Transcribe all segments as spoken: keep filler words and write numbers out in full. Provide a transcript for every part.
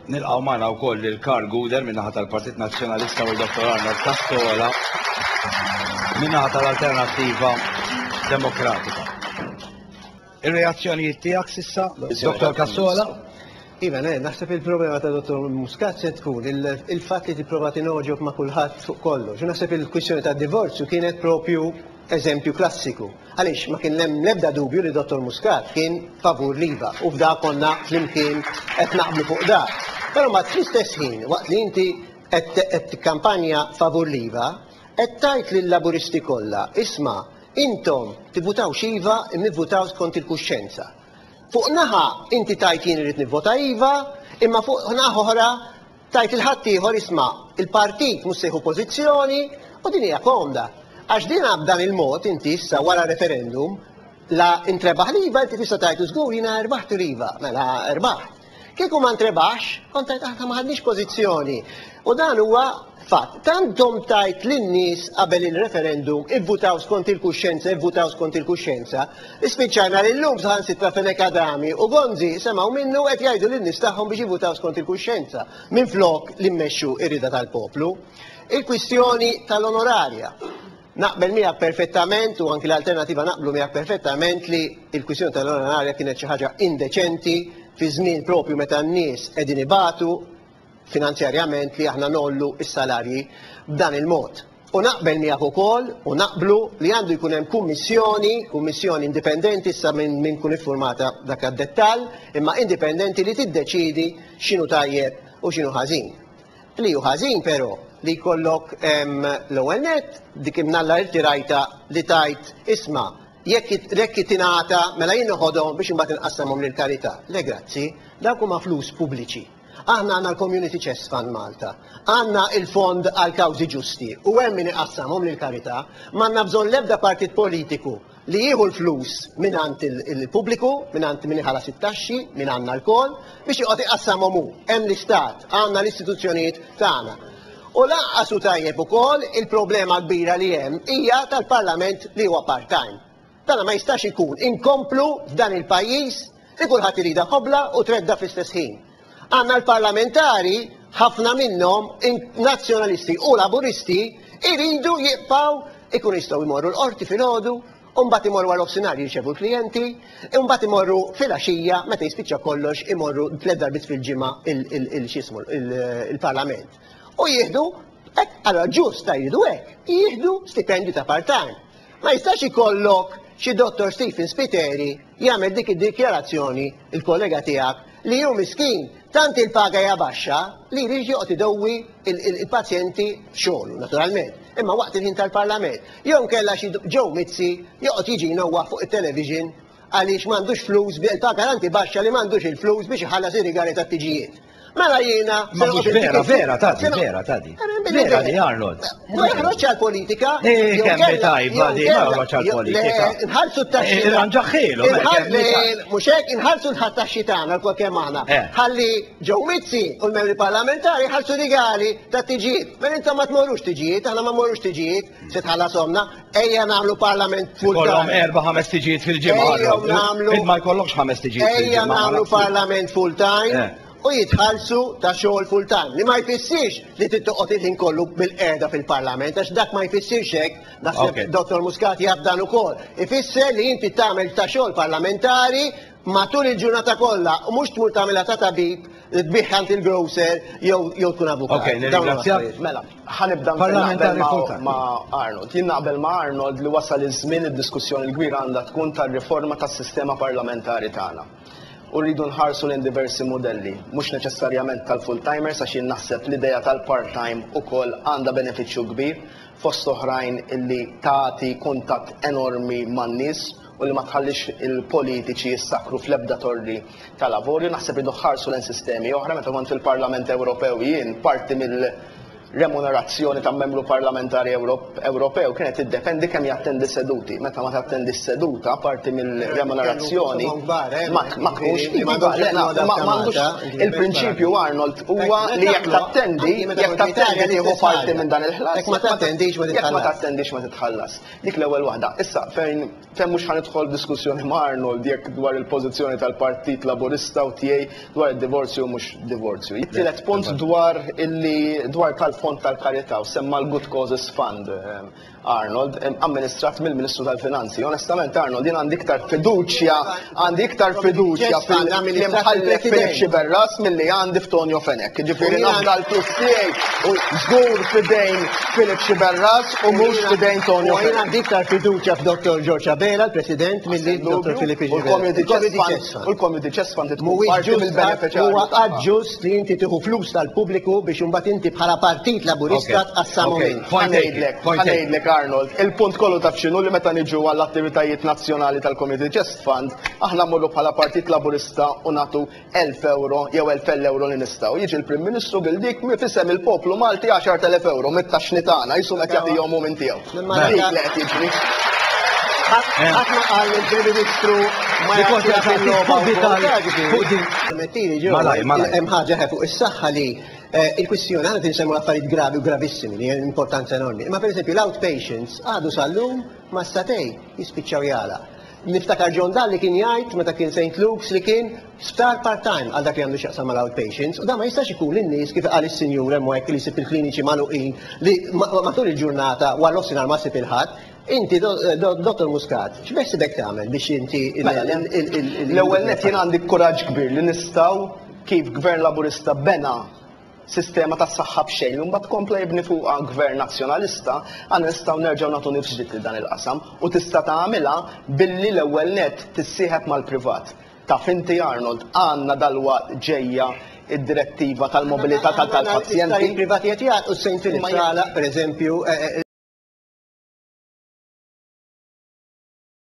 Nilqgħu magħna wkoll lil Karl Gouder min-naħa tal-Partit Nazzjonalista u l-Dottor Arnold Cassola min-naħa tal-Alternattiva Demokratika. Ir-reazzjonijiet tiegħek s'issa, Dottor Cassola? Iva, ne, naħseb il-problema ta' Dottor Muscat se tkun il-fatt li tipprova tingħoġob ma' kulħadd fuq kollox. Naħseb il-kwistjoni ta' divorzju kienet propju eżempju klassiku. Għaliex ma kien hemm l-ebda dubju li Dottor Muscat kien favur l-iva u f'da konna flimkien qed naqblu fuq da. Però ma fl-istess ħin, waqt li inti qed tikkampanja favur l-iva, qed tgħid lill-Laburisti kollha, isma', intom tivvutawx iva, imma ivvutaw skont il-kuxjenza. Fuq naħa inti tgħid jien irid nivvota iva, imma fuq naħa oħra tgħid lil ħaddieħor isma', il-partit mhux se jieħu pożizzjoni u din hija komda. Għax din b'dan il-mod inti issa wara referendum la intrebaħ l-iva inti tista' tgħid żgur jiena rbaħt l-iva, mela rbaħt. Kieku ma ntrebaħx, kont tgħid aħna ma ħadniex pożizzjoni. U dan huwa fatt. Tant tajt lin-nies qabel il-referendum ivvutaw skont il-kuxjenza, ivvutaw skont il-kuxjenza. Ispiċċajna li llum saħansitra Fenech Adami u Gonzi semgħu minnu qed jgħidu lin-nies tagħhom biex jivvutaw skont il-kuxjenza minflok li mmexxu ir-rida tal-poplu. Il-kwistjoni tal-onorarja. Naqbel miegħek perfettament u anki l-Alternativa naqblu miegħek perfettament li il-kwistjoni tal-onorarja kienet xi ħaġa indeċenti fi żmien propju meta n-nies qegħdin ibatu finanzjarjament li aħna ngħollu is-salarji b'dan il-mod. U naqbel miegħek ukoll u naqblu li għandu jkun hemm kummissjoni, kummissjoni indipendenti issa minn min kun iffurmata dak id-dettall, imma indipendenti li tiddeċidi x'inhu tajjeb u x'inhu ħażin. Li hu ħażin però li jkollok l-ewwel net dik imnalla irtirajta li tajt isma' jekk jekk tingħata mela jien noħodhom biex imbagħad inqassamhom lill-karità. Le grazzi, dawk huma flus pubbliċi. Aħna għandna l-Community Chest Fund Malta, għandna il-fond għal kawżi ġusti u hemm min iqassamhom lill-karità, m'għandna bżonn l-ebda partit politiku li jieħu l-flus mingħand il-pubbliku, mingħand min iħallas it-taxxi, minn għandna lkoll, biex joqgħod iqassamhom hu. Hemm l-istat, għandna l-istituzzjonijiet tagħna. U lanqas hu tajjeb ukoll il-problema kbira li hemm hija tal-Parlament li huwa part-time. Dana ma jistax ikun inkomplu f'dan il-pajjiż li kulħadd iridha ħobla u tredda fl-istess ħin. Għandna l-parlamentari, ħafna minnhom nazzjonalisti u laburisti, iridu jibqgħu ikun jistgħu jmorru l-qorti filgħodu, u mbagħad imorru għal nofsinhar jirċevu l-klijenti, u mbagħad imorru filgħaxija meta jispiċċa kollox imorru tliet darbiet fil-ġimgħa il-xismu il-Parlament. U jieħdu, allora ġust ta' jridu hekk, jieħdu stipendju ta' part-time. Ma jistax ikollok xi Dottor Stephen Spiteri jagħmel dik id-dikjarazzjoni il-kollega tiegħek li hu miskin tant il-paga hija baxxa li jrid joqgħod idewwi il-pazjenti xogħlu naturalment. Imma waqt il-ħin tal-Parlament. Jew kellha xi Joe Mizzi joqgħod jiġi jnewwaħ fuq it-television għaliex m'għandux flus il-paga tanti baxxa li m'għandux il-flus biex iħallas ir-rigali tat-tiġijiet. Mela jiena. Ma mhux vera, vera, tadi, vera, tadi. Vera di Arnold. Ma joħroġ għal-politika. Eh, kemm tajba di, ma joħroġ għal-politika. Inħallsu t-taxxi. Irranġaħħilu. Mhux hekk, inħallsu l-taxxi tagħna l kemm aħna. Ħalli Joe Mizzi u l-membri parlamentari ħallsu rigali ta' tiġijiet. Mela intom ma tmorrux tiġijiet, aħna ma mmorrux tiġijiet, se tħallasomna, ejja nagħmlu parlament full time. Kollhom erba' ħames tiġijiet fil-ġimgħa. Ejja nagħmlu. Ma jkollokx ħames tiġijiet fil-ġimgħa. Ejja nagħmlu parlament full time. U jitħallsu ta' xogħol full time. Li ma jfissirx li tittoqgħod il-ħin kollu bil-qiegħda fil-Parlament, għax dak ma jfissirx hekk, naħseb Dottor Muscat jaf dan ukoll. Ifisser li inti tagħmel ta' xogħol parlamentari matul il-ġurnata kollha u mhux tmur tagħmilha ta' tabib, tbigħ għand il-grocer jew tkun avukat. Ok, nirringrazzjak. Mela, ħa nibda Parlamentari full time. ma' Arnold. Jien naqbel ma' Arnold li wasal iż-żmien id-diskussjoni l-kbira għandha tkun tar-riforma tas-sistema parlamentari tagħna. U rridu nħarsu lejn diversi modelli, mhux neċessarjament tal-full-timers, għax jien naħseb l-idea tal-part-time ukoll għandha benefiċċju kbir, fost oħrajn illi tagħti kuntatt enormi man-nies u li ma tħallix il-politiċi jissakru fl-ebda torri tal-avorju. Naħseb rridu nħarsu lejn sistemi oħra. Meta kont fil-Parlament Ewropew jien parti mill remunerazzjoni ta' membru parlamentari Ewropew kienet tiddependi kemm jattendi seduti. Meta ma tattendi seduta, parti mill-remunerazzjoni ma tkunx. Il-prinċipju, Arnold, huwa li jekk tattendi, jekk tattendi tieħu parti minn dan il-ħlas. Jekk ma tattendix ma Jekk ma tattendix ma titħallas. Dik l-ewwel waħda. Issa fejn fejn mhux ħa nidħol diskussjoni ma' Arnold jekk dwar il-pożizzjoni tal-Partit Laburista u tiegħi dwar id-divorzju mhux divorzju. Tielet punt dwar illi dwar tal-Fond tal-Karità u semma l-Good Causes Fund, Arnold, amministrat mill-Ministru tal-Finanzi. Onestament, Arnold, jien għandi iktar fiduċja, għandi iktar fiduċja fil-imħallef Philip Sciberras milli għandi f'Tonio Fenech. Ġifieri nafda l-flus tiegħi u żgur f'idejn Philip Sciberras u mhux f'idejn Tonio Fenech. U għandi iktar fiduċja f'Dottor George Abela, l-President, milli Dottor Philip Sciberras. U l-Community Chest Fund tkun parti mill-beneficjarju. Huwa ġust li inti tieħu flus tal-pubbliku biex imbagħad inti bħala Partit Laburista tqassamu minn. Ħa ngħidlek, Arnold, il-punt kollu taf x'inhu, li meta niġu għall-attivitajiet nazzjonali tal-Community Chest Fund, aħna mmorru bħala Partit Laburista u nagħtu elf euro jew elf euro li nistgħu. Jiġi l-Prim Ministru bil-dik f'isem il-poplu Malti għaxart elef euro mit-taxxni tagħna, qisu qed jagħtihom minn tiegħu. Dik li qed jiġri. Ħadd ma qal il-Prim Ministru ma Hemm ħaġa fuq is-saħħa li eh, il-kwistjoni għandna tinsemmu affarijiet gravi u gravissimi li importanza enormi. Ma per esempio l-outpatients għadu sal-lum ma statej jispiċċaw jala. Niftakar John Dalli kien jgħid meta kien Saint Luke's li kien sptar part-time għal dak li għandu x'jaqsam mal-outpatients, u da ma jistax ikun lin-nies, kif qal is-sinjur hemmhekk, li jsib il-kliniċi magħluqin li matul il-ġurnata wara nofsinhar ma ssib il-ħadd. Inti, Dottor Muscat, x'beħsibek tagħmel biex inti Mela, l-ewwel net jien għandi kuraġġ kbir li nistgħu, kif Gvern Laburista bena sistema ta' saħħa b'xejn, u mbagħad kompla jibni fuqha gvern nazzjonalista, għandna nistgħu nerġgħu nagħtu nifs ġdid lil dan il-qasam u tista' tagħmilha billi l-ewwel net tissieħeb mal-privat. Taf inti, Arnold, għandna dalwaqt ġejja id-direttiva tal-mobilità tal-pazjenti. Il-privati qed jgħid u Saint Philip per eżempju. eh, eh,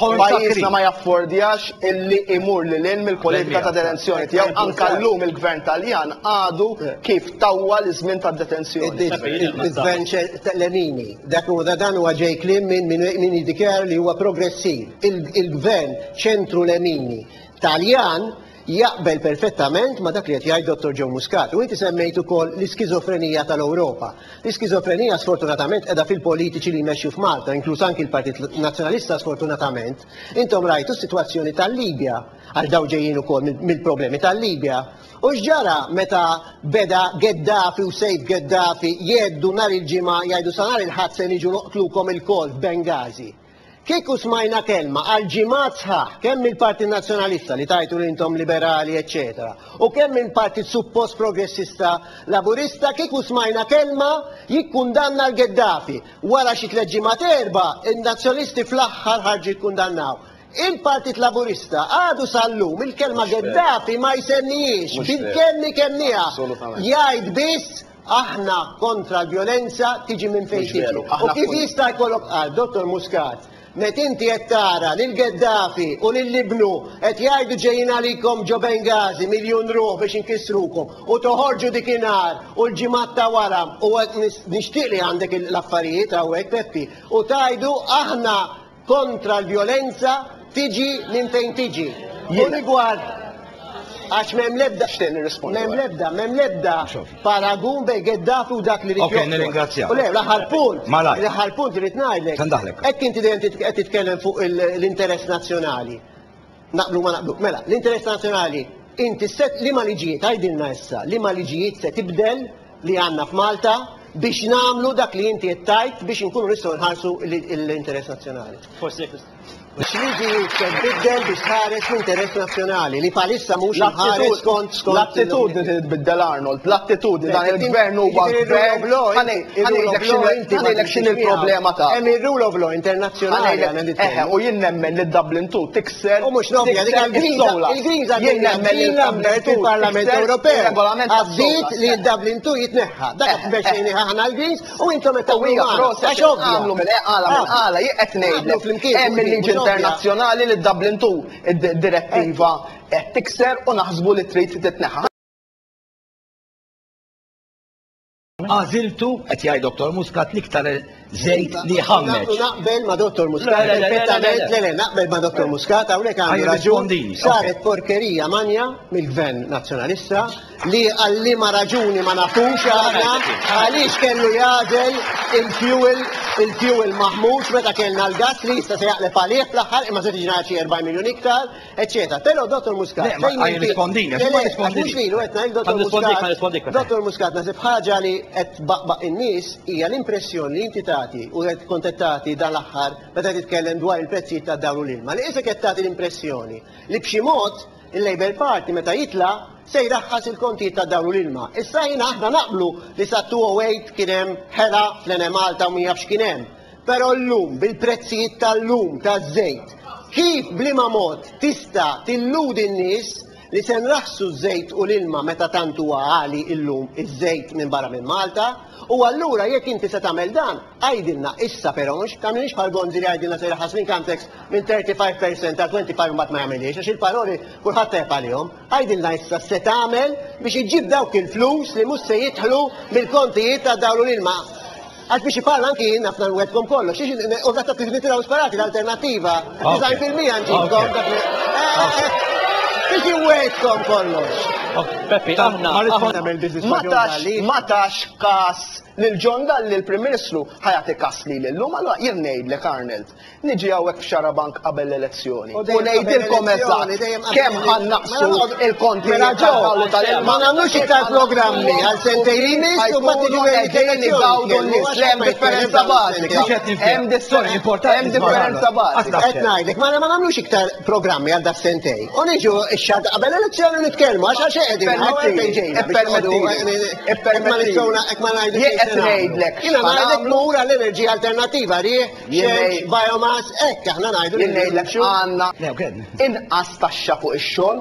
Pajjiżna ma jaffordjax illi imur lil hinn mill-politika ta' detenzjoni tiegħu. Anka llum il-gvern Taljan għadu kif tawwa l-żmien ta' detenzjoni. Il-gvern Lenini, dak huwa dan huwa ġej kliem minn min jiddikjara li huwa progressiv. Il-gvern ċentru Lenini Taljan jaqbel perfettament ma dak li qed jgħid Dottor Joe Muscat. U inti semmejt ukoll l-iskizofrenija tal-Ewropa. L-iskizofrenija sfortunatament qiegħda fil-politiċi li jmexxu f'Malta, inkluż anki l-Partit Nazzjonalista sfortunatament. Intom rajtu s-sitwazzjoni tal-Libja, għal daw ġejjin ukoll mill-problemi tal-Libja. U x'ġara meta beda Gaddafi u Saif Gaddafi jgħeddu nhar il-Ġimgħa, jgħidu sa nhar il-Ħadd se niġu noqtlukom ilkoll f'Bengazi? Kieku smajna kelma għal ġimgħat sħaħ kemm il-Partit Nazzjonalista li tajtu li intom liberali, eccetera, u kemm il-Partit suppost progressista Laburista, kieku smajna kelma jikkundanna l-Gaddafi. Wara xi tliet ġimgħat erba', in-nazzjonalisti fl-aħħar ħarġu jikkundannaw. Il-Partit Laburista għadu sal-lum il-kelma Gaddafi ma jsemmijiex, bil-kelmi kemmija. Jgħid biss aħna kontra l-violenza tiġi minn fejn tiġi. U kif jista' jkollok qal Dottor Muscat, met inti qed tara lil Gaddafi u lil ibnu qed jgħidu ġejjin għalikom ġo Bengazi miljun ruħ biex inkissrukom, u toħorġu dikinhar u l-ġimgħat ta' wara, u nixtieq li għandek l-affarijiet hawnhekk, Peppi, u tgħidu aħna kontra l-violenza tiġi minn fejn tiġi. U rigward għax m'hemm lebda, m'hemm lebda, m'hemm lebda paragun bejn Gaddafi u dak li Ok, nirringrazzjak. U le, l-aħħar punt, Malaj. L-aħħar punt irid ngħidlek. Tandaħlek. Hekk inti dejjem qed titkellem fuq l-interess nazzjonali. Naqblu ma naqblu. Mela, l-interess nazzjonali, inti set li ma liġijiet, għajdilna issa, li ma liġijiet se tibdel li għandna f'Malta biex nagħmlu dak li inti qed tgħid biex inkunu nistgħu nħarsu l-interess nazzjonali. Forsi X'liġijiet se tbiddel biex tħares l-interess nazzjonali li bħalissa mhux imħares skont skont L-attitudni titbiddel, Arnold, l-attitudni. Dan il-gvern huwa gvern. Ħa ngħidlek x'inhi il-problema ta' Hemm il-rule of law internazzjonali għandna Eħe, nitkellmu. U jien nemmen li Dublin two tikser. U mhux nobja, dik il-Greens, il-Greens Jien nemmen li Lambert fil-Parlament Ewropew. Regolament Għaddit li Dublin two jitneħħa. Dak biex aħna l-Greens u intom qed U hija tagħmlu proset għax ovvja. għamlu minn għala minn għala jien qed ngħidlek. flimkien, Hemm il-liġi mhux ovvja. internazzjonali li Dublin two id-direttiva qed tikser u naħsbu li trid titneħħa. Għażiltu, qed jgħid Dottor Muscat, l-iktar żejt li ħammeġ. Naqbel ma' Dottor Muscat, perfettament, le le, naqbel ma' Dottor Muscat, hawnhekk għandu raġun. Saret porkerija manja mill-Gvern Nazzjonalista li għalli ma raġuni ma nafux għadna għaliex kellu jagħżel il-fuel il-fuel maħmuġ meta kellna l-gas li jista' se jaqleb għalih fl-aħħar imma se tiġi xi erba' miljun iktar, eċċetera. Però Dottor Muscat, fejn rispondini, ma rispondini. Mhux lilu qed ngħid Dottor Muscat. Dottor Muscat, naħseb ħaġa li qed baqbaq in-nies hija l-impressjoni li inti tagħti u qed kont qed tagħti dan l-aħħar meta titkellem dwar il-prezzijiet tad-dawl u l-ilma. Li isek qed tagħti l-impressjoni li b'xi mod il-Labour Party meta jitla' se jraħħas il-kontijiet tad-dawl u l-ilma. Issa jiena aħna naqblu li sa two oh eight kien hemm ħela fl-Enemalta u min jaf x'kien hemm. Però llum bil-prezzijiet tal-lum taż-żejt, kif bliema mod tista' tilludi n-nies li se nraħsu ż-żejt u l-ilma meta tant huwa għali illum iż-żejt minn barra minn Malta? U allura jekk inti se tagħmel dan, għajdilna issa però mhux tagħmilniex bħal Gonzi li għajdilna se jraħħas l-income tax minn thirty-five percent għal twenty-five mbagħad ma jagħmilhiex għax il-paroli kulħadd tajjeb għalihom. Għajdilna issa se tagħmel biex iġġib dawk il-flus li mhux se jidħlu mill-kontijiet ta' dawl u l-ilma. Għax biex iparla anki jien nafna nwedkom kollox, xiex u għatta nitilgħu sparati l-alternattiva, disgħin fil-mija nġibkom dak li- Biex iwedkom kollox. Peppi, aħna Ma tax, ma tax kas lil John Dalli l-Prim Ministru ħajati kas li l-lum, allura jien ngħidlek Arnold, niġi hawnhekk f'Xarabank qabel l-elezzjoni. U U ngħidilkom eżatt kemm ħannaqsu il-kontijiet tal-ħallu tal-ilma. Ma nagħmlux iktar programmi għal sentejn li jmiss u mbagħad tiġu qegħdin igawdu n-nies, li hemm differenza bażika. Hemm hemm differenza bażika. Qed ngħidlek, ma nagħmlux iktar programmi għal dak sentejn. U niġu x-xahar qabel l-elezzjoni nitkellmu għax għax qegħdin Ippermettili. Qed ngħidlek. Jiena ngħidlek mur għall-enerġija alternattiva, riħ, xemx, biomass, hekk aħna ngħidu. Jien ngħidlek għandna inqas taxxa fuq ix-xogħol,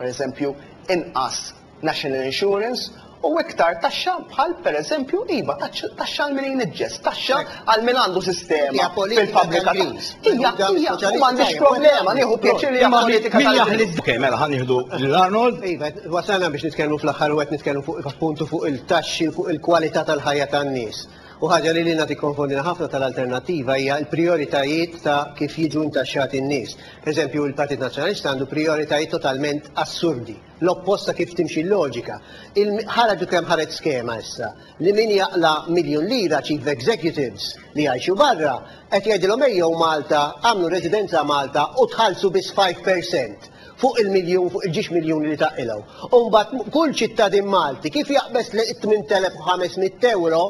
pereżempju inqas National Insurance, u iktar taxxa bħal pereżempju iva taxxa għal min jniġġes, taxxa għal min għandu sistema fil-fabbrika. Hija, hija, u m'għandix problema, nieħu pjaċir li hija politika tal-Greens. Okej, mela ħa nieħdu lil Arnold. Iva, wasalna biex nitkellmu fl-aħħar u qed nitkellmu fuq appuntu fuq il-taxxi, fuq il-kwalità tal-ħajja tan-nies. U ħaġa li lilna tikkonfondina ħafna tal-alternattiva hija l-prijoritajiet ta' kif jiġu intaxxati n-nies. Per eżempju, il-Partit Nazzjonalista għandu prijoritajiet totalment assurdi, l-opposta kif timxi l-loġika. Ħarġu kemm ħareġ skema issa li min jaqla miljun lira chief executives li jgħixu barra qed jgħidilhom ejjew Malta, għamlu residenza Malta u tħallsu biss five percent fuq il-miljun, fuq il-ġiex miljun li taqilgħu. U mbagħad kull ċittadin Malti kif jaqbes li tmien elef u ħames mitt euro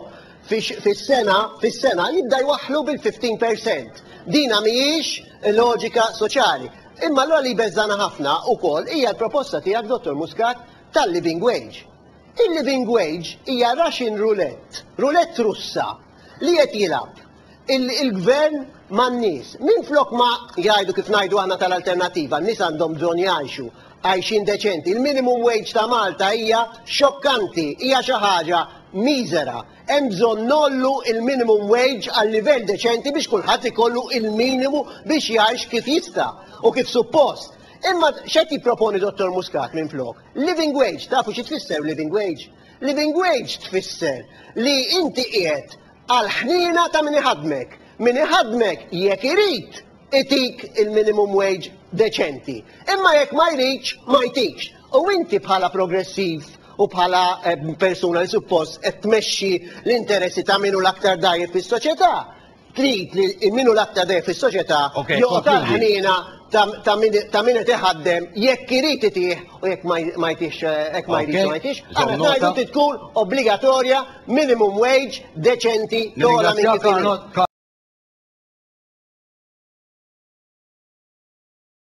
fis-sena, fis-sena jibda jwaħħlu bil-fifteen percent. Dina mhijiex loġika soċjali. Imma allura li beżana ħafna wkoll hija l-proposta tiegħek Dottor Muscat tal-living wage. Il-living wage hija Russian roulette, roulette Russa li qed jilgħab il-gvern man-nies. Minflok ma jgħidu kif ngħidu aħna tal-alternattiva, n-nies għandhom bżonn jgħixu għajxin deċenti. Il-minimum wage ta' Malta hija xokkanti, hija xi ħaġa miżera. Hemm bżonn nollu il-minimum wage għal livell deċenti biex kulħadd ikollu il-minimu biex jgħix kif jista' u kif suppost. Imma x'qed jipproponi Dottor Muscat minflok? Living wage, tafu xi tfisser living wage? Living wage tfisser li inti qiegħed għal ħnina ta' min iħadmek. Min iħadmek jekk irid itik il-minimum wage deċenti. Imma jekk ma jridx, ma jtikx. U inti bħala progressiv u bħala persuna li suppost qed tmexxi l-interessi ta' minu l-aktar dajjef fis-soċjetà, trid li minu l-aktar dajjef fis-soċjetà joqgħod għal ħnina ta' min qed iħaddem jekk irid itih u jekk ma jtihx, jekk ma jridx ma jtihx. Aħna ngħidu trid tkun obbligatorja minimum wage deċenti togħla minn kif inhi.